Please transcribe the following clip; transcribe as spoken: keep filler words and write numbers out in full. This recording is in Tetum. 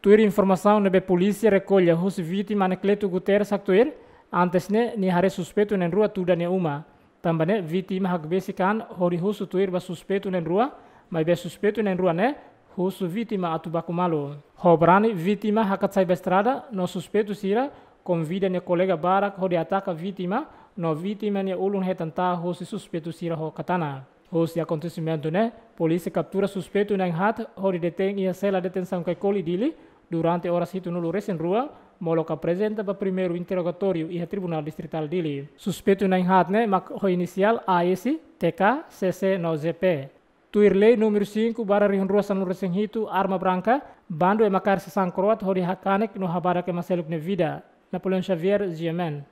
Tuir informasaun ne'ebé polísia rekolla husi vítima Anacleto Guterres haktuir, antes ne'e nia haree suspeitu na'in-rua tuda nia uma. Tanba ne'e vítima hakbesik an hodi husu tuir ba suspeitu na'in-rua, maibé suspeitu na'in-rua ne'e husu vítima atu baku malu. Ho brani vítima hakat sai ba estrada no suspeitu sira konvida nia kolega barak hodi ataka vítima, no vítima nia ulun hetan ta'a husi suspeitu sira ho katana. Husi akontesimentu ne'e, polísia kaptura suspeitu na'in-haat hodi detein iha sela detensaun Caicoli Dili durante oras hitunulu-resin-rua, molok aprezenta ba primeiru interrogatóriu iha Tribunál Distritál Dili. Suspeitu na'in-haat ne'e mak ho inisiál A S, T K, C C no G P. Tuir lei númeru cinco barra rihun rua sanulu-resin-hitu, arma branka, bandu ema kaer sasán kro'at hodi hakanek no habadak ema seluk nia vida. Napoleão Xavier, G M N.